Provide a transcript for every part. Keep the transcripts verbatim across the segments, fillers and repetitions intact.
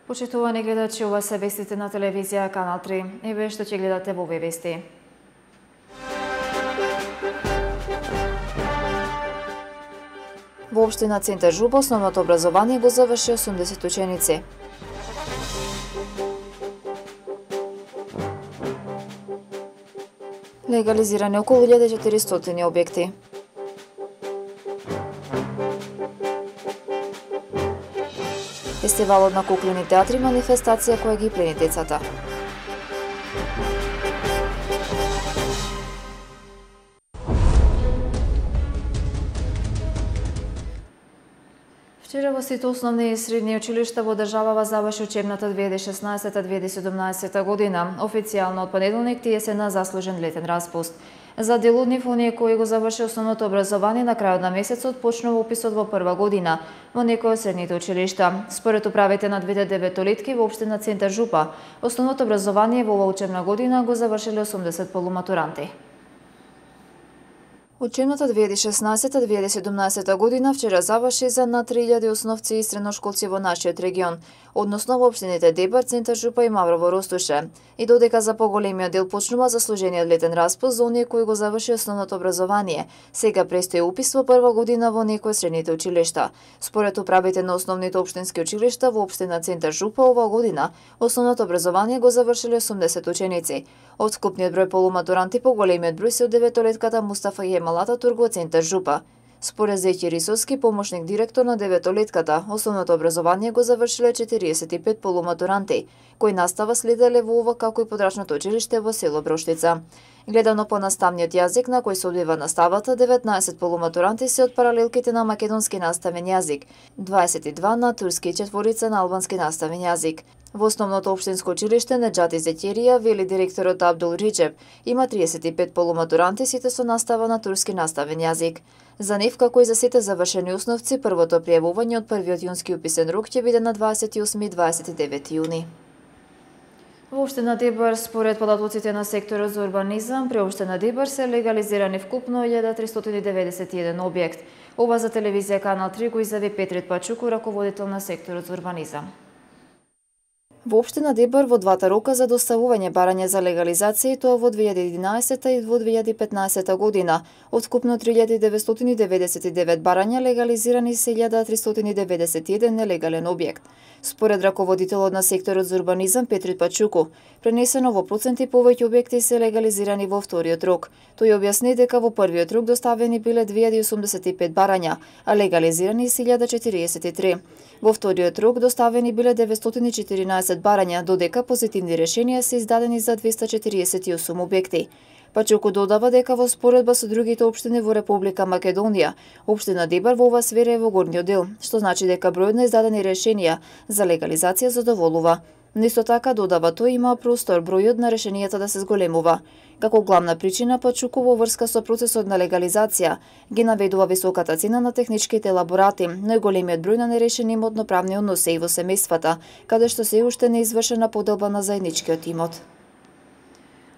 Почитувани гледачи, ова се вестите на телевизија Канал три. Еве што ќе гледате во овие вести. Во општина Центар Жупа основното образование го заврши осумдесет ученици. Легализирани околу илјада и четиристотини објекти. Фестивалот на куклени театри, манифестација која ги плени децата. Вчера во сите основни и средни училишта во државава заврши учебната две илјади и шеснаесета две илјади и седумнаесета година. Официјално од понеделник тие се на заслужен летен распуст. За дел од нив, оние кои го заврши основното образование на крајот на месецот, почнува уписот во прва година во некои од средните училишта. Според управите на двете деветолетки во општина Центар Жупа, основното образование во оваа учебна година го завршиле осумдесет полуматуранти. Учебната две илјади и шеснаесета две илјади и седумнаесета година вчера заврши за над три илјади основци и средношколци во нашиот регион, односно во општините Дебар, Центар Жупа и Маврово Ростуше. И додека за поголемиот дел почнува заслужениот летен распуст за оние кои го заврши основното образование, сега престои упис во прва година во некои од средните училишта. Според управите на основните општински училишта во општина Центар Жупа оваа година, основното образование го завршиле осумдесет ученици. Од скупниот број полуматуранти, поголемиот број се од деветолетката Мустафа Јемал Ататурк во Центар Жупа. Според Зеќи Рисовски, помошник директор на деветолетката, основното образование го завршиле четириесет и пет полуматуранти, кои настава следеле во ова како и подрачното училиште во село Броштица. Гледано по наставниот јазик на кој се одвива наставата, деветнаесет полуматуранти се од паралелките на македонски наставен јазик, дваесет и два на турски и четворица на албански наставен јазик. Во основното општинско училиште Неџати Зеќерија, вели директорот Абдул Риџеб, има триесет и пет полуматуранти, сите со настава на турски наставен јазик. За нив, како и за сите завршени основци, првото пријавување од првиот јунски уписен рок ќе биде на дваесет и осми и дваесет и девети јуни. Во општина Дебар, според податоците на секторот за урбанизам, при општина Дебар се легализирани вкупно илјада тристотини деветдесет и еден објект. Ова за телевизија Канал три го изјави Петрит Пачуку, раководител на секторот за урбанизам. Во општина Дебар во двата рока за доставување барање за легализација, и тоа во две илјади и единаесета и во две илјади и петнаесета година, од вкупно три илјади деветстотини деветдесет и девет барања легализирани се илјада тристотини деветдесет и еден нелегален објект. Според раководителот на секторот за урбанизам Петрит Пачуку, пренесено во проценти повеќе објекти се легализирани во вториот рок. Тој објасни дека во првиот рок доставени биле две илјади осумдесет и пет барања, а легализирани се илјада четириесет и три. Во вториот рок доставени биле деветстотини и четиринаесет барања, додека позитивни решенија се издадени за двеста четириесет и осум објекти. Пачуку додава дека во споредба со другите општини во Република Македонија, општина Дебар во оваа сфера е во горниот дел, што значи дека бројот на издадени решенија за легализација задоволува. Но исто така, додава тој, има простор бројот на решенијата да се зголемува. Како главна причина, Пачуку во врска со процесот на легализација ги наведува високата цена на техничките елаборати, но и големиот број на нерешени имотно-правни односи и во семејствата, каде што се уште не извршена поделба на заедничкиот имот.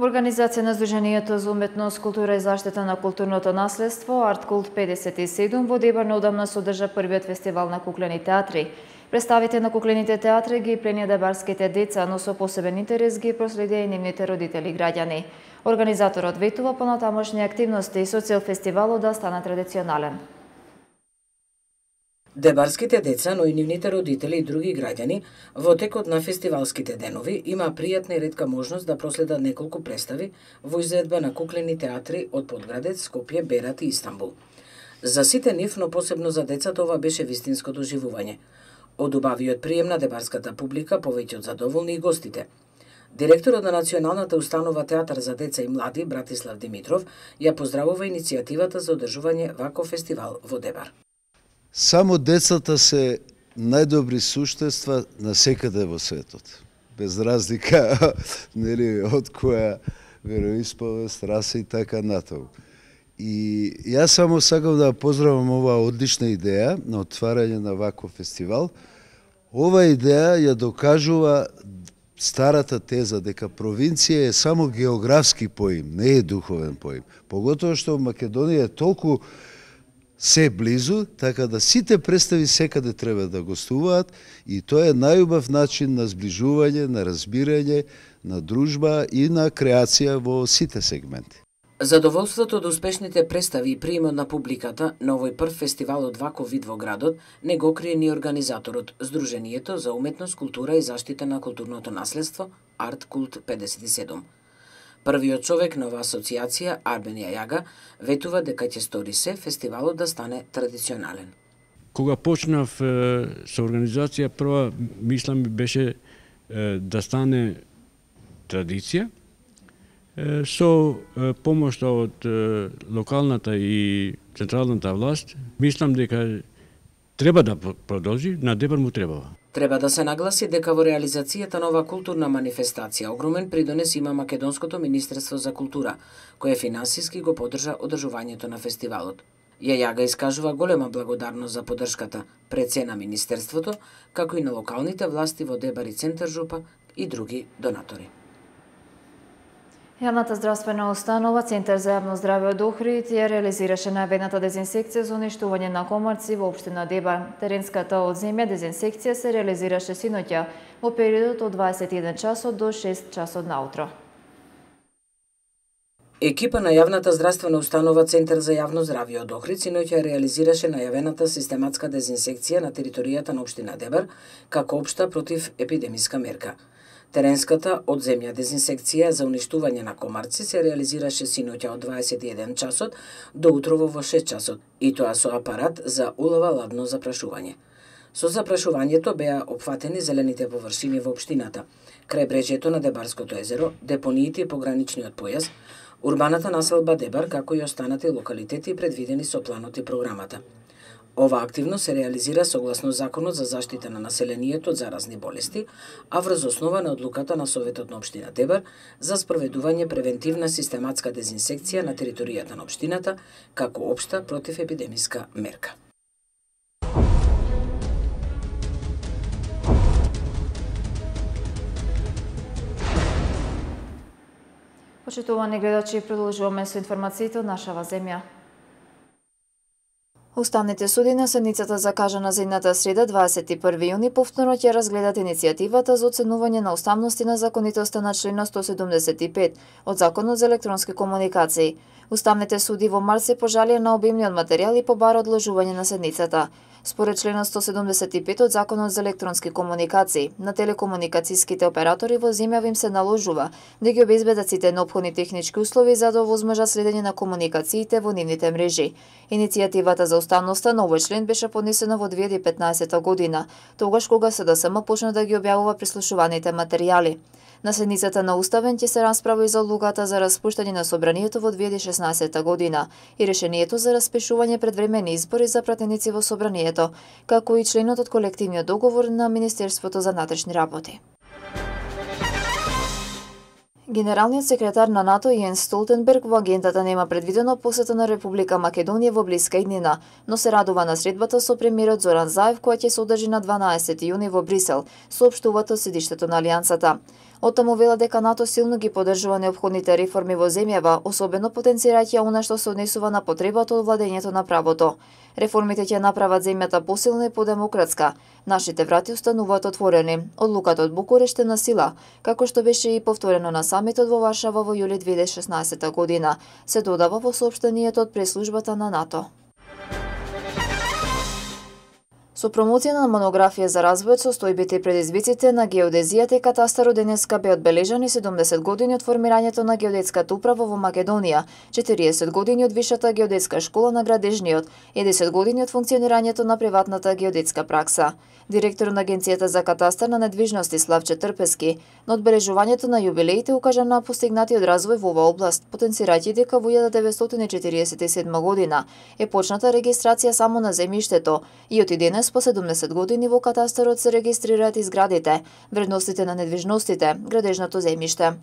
Во организација на Сдруженијето за уметност, култура и заштита на културното наследство, Арткулт педесет и седум во Дебар неодамна се одржа првиот фестивал на куклени театри. Представите на куклените театри ги пленија дебарските деца, но со посебен интерес ги проследија и нивните родители и граѓани. Организаторот ветува понатамошни активности со цел фестивалот да стане традиционален. Дебарските деца, но и нивните родители и други граѓани во текот на фестивалските денови има пријатна и ретка можност да проследат неколку представи во изvedба на куклени театри од Подградец, Скопје, Берат и Истанбул. За сите нив, но посебно за децата, ова беше вистинско доживување. Од убавиот прием на дебарската публика повеќе од задоволни и гостите. Директорот на Националната установа Театар за деца и млади, Братислав Димитров, ја поздравува иницијативата за одржување ваков фестивал во Дебар. Само децата се најдобри суштества на секаде во светот. Без разлика нели, од која вероисповест, раса и така натаму. И јас само сакам да поздравам оваа одлична идеја на отварање на ваков фестивал. Ова идеја ја докажува старата теза дека провинција е само географски поим, не е духовен поим. Поготово што Македонија е толку се близу, така да сите представи секаде треба да гостуваат и тоа е најубав начин на зближување, на разбирање, на дружба и на креација во сите сегменти. Задоволството од успешните представи и приемот на публиката на овој прв фестивал од ваков вид во градот не го крие ни организаторот, Сдруженијето за уметност, култура и заштита на културното наследство Арт Култ педесет и седум. Првиот човек на оваа асоциација, Арбен Јајага, ветува дека ќе стори се фестивалот да стане традиционален. Кога почнав е, со организација, прва мисла ми беше е, да стане традиција, е, со е, помошта од е, локалната и централната власт. Мислам дека треба да продолжи, на Дебар му требава. Треба да се нагласи дека во реализацијата на оваа културна манифестација огромен придонес има Македонското Министерство за култура, кое финансиски го поддржа одржувањето на фестивалот. Јајага искажува голема благодарност за поддршката пред се на Министерството, како и на локалните власти во Дебар и Центар Жупа и други донатори. Јавната здравствена установа Центар за јавно здраве од Охрид ја реализираше најавената дезинсекција за уништување на комарци во општина Дебар. Теренската од земја дезинсекција се реализираше синоќа во периодот од дваесет и еден часот до шест часот наутро. Екипа на јавната здравствена установа Центар за јавно здравје од Охрид синоќа реализираше најавената систематска дезинсекција на територијата на општина Дебар како општа против епидемиска мерка. Теренската од земја дезинсекција за уништување на комарци се реализираше синоќа од дваесет и еден часот до утрово во шест часот, и тоа со апарат за улова ладно запрашување. Со запрашувањето беа опфатени зелените површини во општината, крајбрежјето на Дебарското езеро, депониите и пограничниот појас, урбаната населба Дебар, како и останати локалитети предвидени со планот и програмата. Ова активност се реализира согласно Законот за заштита на населението од заразни болести, а врз основа на одлуката на Советот на општина Дебар за спроведување превентивна систематска дезинсекција на територијата на општината како општа противепидемиска мерка. Почитувани гледачи, продолжуваме со информациите од нашава земја. Уставните суди на седницата закажана за идната среда дваесет и први јуни повторно ќе разгледат иницијативата за оценување на уставност и на законитоста на член сто седумдесет и пет од Законот за електронски комуникации. Уставните суди во март се пожалија на обимниот материјал и побара одложување на седницата. Според членот сто седумдесет и пет од Законот за електронски комуникации, на телекомуникацијските оператори во земјава им се наложува да ги обезбедат сите неопходни технички услови за да овозможат следење на комуникациите во нивните мрежи. Иницијативата за уставноста на овој член беше поднесена во две илјади и петнаесета година, тогаш кога СДСМ почна да ги објавува прислушуваните материјали. На седницата на Уставен ќе се расправи за одлуката за распуштање на собранието во две илјади и шеснаесета година и решението за распишување предвремени избори за пратеници во собранието, како и членот од колективниот договор на Министерството за внатрешни работи. Генералниот секретар на НАТО Јенс Столтенберг во агендата нема предвидено посета на Република Македонија во блиска иднина, но се радува на средбата со премиерот Зоран Заев која ќе се одржи на дванаесети јуни во Брисел, соопштуваат од седиштето на Алијансата. Оттаму вела дека НАТО силно ги поддржува неопходните реформи во земјава, особено потенцирајќи она што се однесува на потребата од владењето на правото. Реформите ќе направат земјата посилна и подемократска. Нашите врати остануваат отворени. Одлуката од Букурешт е на сила, како што беше и повторено на самитот во Варшава во јули две илјади и шеснаесета година, се додава во соопштението од преслужбата на НАТО. Со промоција на монографија за развојот, состојбите и предизвиците на геодезијата и катастарот денеска бе одбележани седумдесет години од формирањето на геодетската управа во Македонија, четириесет години од Вишата геодетска школа на градежниот и десет години од функционирањето на приватната геодетска пракса. Директор на Агенцијата за катастар на недвижности Славче Трпески на одбележувањето на јубилеите укажа на постигнатиот развој во оваа област, потенцирајќи дека во илјада деветстотини четириесет и седма година е почната регистрација само на земјиштето и од и денес по седумдесет години во катастарот се регистрираат и зградите, вредностите на недвижностите, градежното земјиште.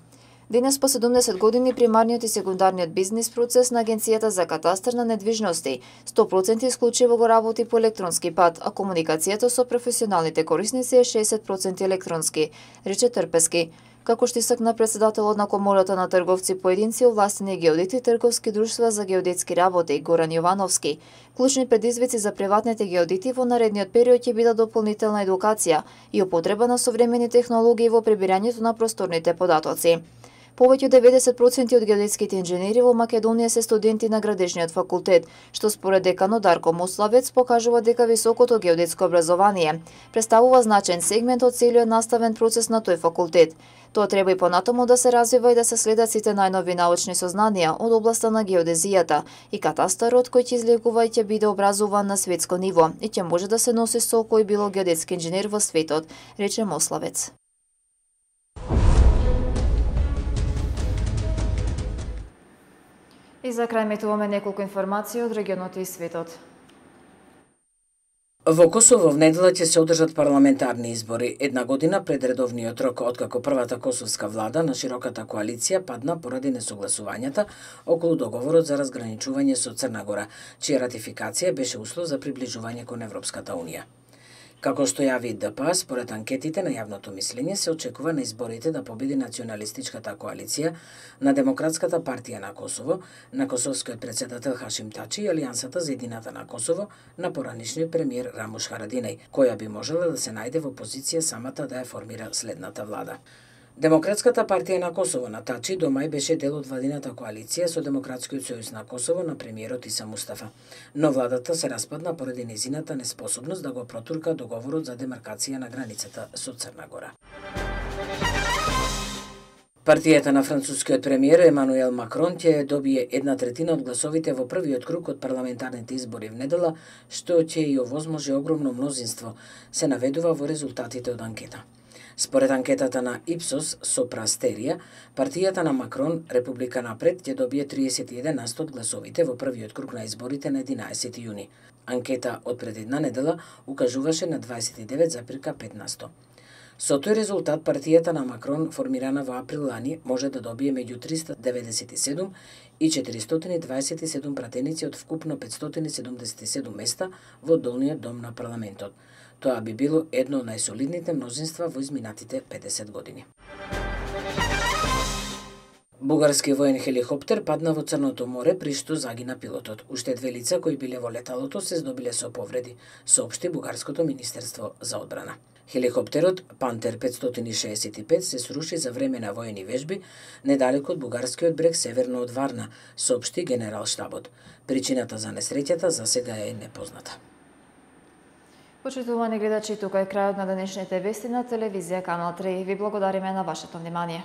Денес по седумдесет години примарниот и секундарниот бизнис процес на Агенцијата за катастар на недвижности сто проценти исклучиво го работи по електронски пат, а комуникацијата со професионалните корисници е шеесет проценти електронски, рече Трпески. како што истакна председателот на Комората на трговци поединци, овластени геодети и трговски друштва за геодетски работи Горан Јовановски. Клучни предизвици за приватните геодети во наредниот период ќе бидат дополнителна едукација и употреба на современи технологии во прибирањето на просторните податоци. Повеќе од деветдесет проценти од геодетските инженери во Македонија се студенти на градежниот факултет, што според деканот Дарко Мославец покажува дека високото геодетско образование представува значаен сегмент од целиот наставен процес на тој факултет. Тоа треба и понатаму да се развива и да се следат сите најнови научни сознанија од областа на геодезијата и катастарот кој ќе излегува и ќе биде образуван на светско ниво и ќе може да се носи со кој било геодетски инженер во светот, рече Мославец. И за крај метуваме неколку информации од регионот и светот. Во Косово в недела ќе се одржат парламентарни избори, една година пред редовниот рок, откако првата косовска влада на широката коалиција падна поради несогласувањата околу договорот за разграничување со Црна Гора, чија ратификација беше услов за приближување кон Европската унија. Како што јави Д П А, според анкетите на јавното мислење, се очекува на изборите да победи националистичката коалиција на Демократската партија на Косово, на косовскиот председател Хашим Тачи и Алијансата за едината на Косово на поранишниот премиер Рамуш Харадинај, која би можела да се најде во позиција самата да ја формира следната влада. Демократската партија на Косово на Тачи до мај беше дел од владината коалиција со Демократскиот сојуз на Косово на премиерот Иса Мустафа, но владата се распадна поради незината неспособност да го протурка договорот за демаркација на границата со Црна Гора. Партијата на францускиот премиер Емануел Макрон ќе добие една третина од гласовите во првиот круг од парламентарните избори в недела, што ќе и овозможи огромно мнозинство, се наведува во резултатите од анкета. Според анкетата на Ипсос со Прастерија, партијата на Макрон, Република напред, ќе добие триесет и еден на сто од гласовите во првиот круг на изборите на единаесети јуни. Анкета од пред една недела укажуваше на дваесет и девет зарез пет на сто. Со тој резултат, партијата на Макрон, формирана во април лани, може да добие меѓу триста деведесет и седум и четиристотини и дваесет и седум пратеници од вкупно петстотини седумдесет и седум места во долниот дом на парламентот. Тоа би било едно од најсолидните мнозинства во изминатите педесет години. Бугарски воен хеликоптер падна во Црното море, при што загина пилотот. Уште две лица кои биле во леталото се здобиле со повреди, соопшти Бугарското министерство за одбрана. Хеликоптерот Пантер петстотини шеесет и пет се сруши за време на воени вежби недалеку од бугарскиот брег северно од Варна, соопшти Генерал-штабот. Причината за несреќата за сега е непозната. Почитувани гледачи, тука е крајот на денешните вести на телевизија Канал три. Ви благодариме на вашето внимание.